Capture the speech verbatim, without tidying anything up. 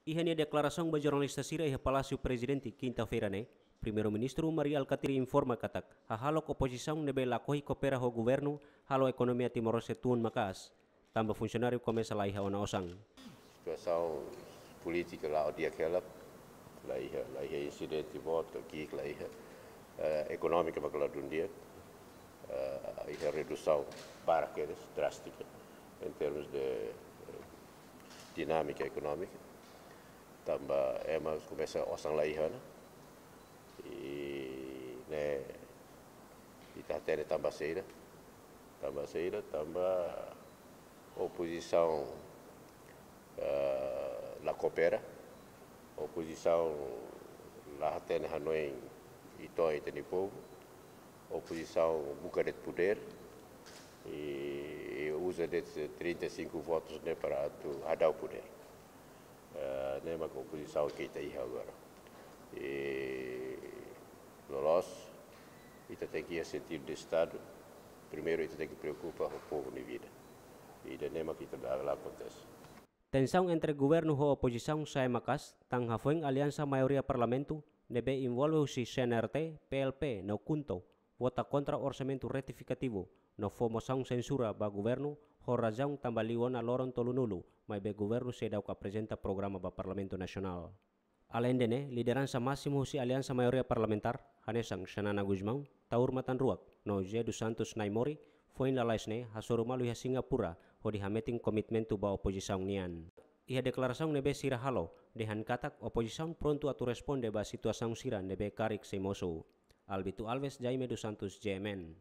Iha nia deklarasaun ba jornalista sira iha Palásiu Prezidente, kinta-feira ne'e, Primeiru-Ministru Mari Alkatiri informa katak hahalok opozisaun ne'ebé lakohi koopera ho governu halo ekonomia Timor-Leste tun maka'as, tanba funsionáriu komesa la iha ona osan. Situasaun polítika la'o di'ak hela, la iha, la iha insidente boot ka ki'ik la iha, eh, ekonómika mak ladún di'ak, eh, iha redusaun barak kedas, drástika, em termos de, eh, dinámika ekonómika. Tanba ema komesa osan la iha ona. I ne'e ita hatene tanba saida. Tanba saida, tanba opozisaun, eh, la koopera. Opozisaun la hatene hanoin ita-nia povu. Opozisaun buka de'it podér i, i uza de'it trinta e cinco votus ne'e para atu hadau podér. Eh, ne'e mak opozisaun ke ita iha agora. I loloos, ita tenke iha sentidu de Estadu. Primeiru ita tenke preokupa ho povu nia vida. I ida-ne'e mak ita la, la akontese. Tensaun entre governu ho opozisaun sa'e maka'as, tan hafoin aliansa maioria parlamentu ne'ebé envolve husi C N R T, P L P no KHUNTO vota kontra orsamentu retifikativu no fó mosaun sensura ba governu ho razaun tanba liu ona loron tolunulu, maibé governu seidauk aprezenta programa ba Parlamentu Nasionál. Aleinde ne'e, lideransa másimu husi aliansa maioria parlamentár, hanesan Xanana Gusmão, Taur Matan Ruak, no José dos Santos Naimori, foin lalais ne'e hasoru malu iha Singapura hodi hametin komitmentu ba opozisaun nian. Iha deklarasaun ne'ebé sira halo, dehan katak opozisaun prontu atu responde ba situasaun sira ne'ebé karik sei mosu. Albito Alves, Jaime dos Santos, G M N.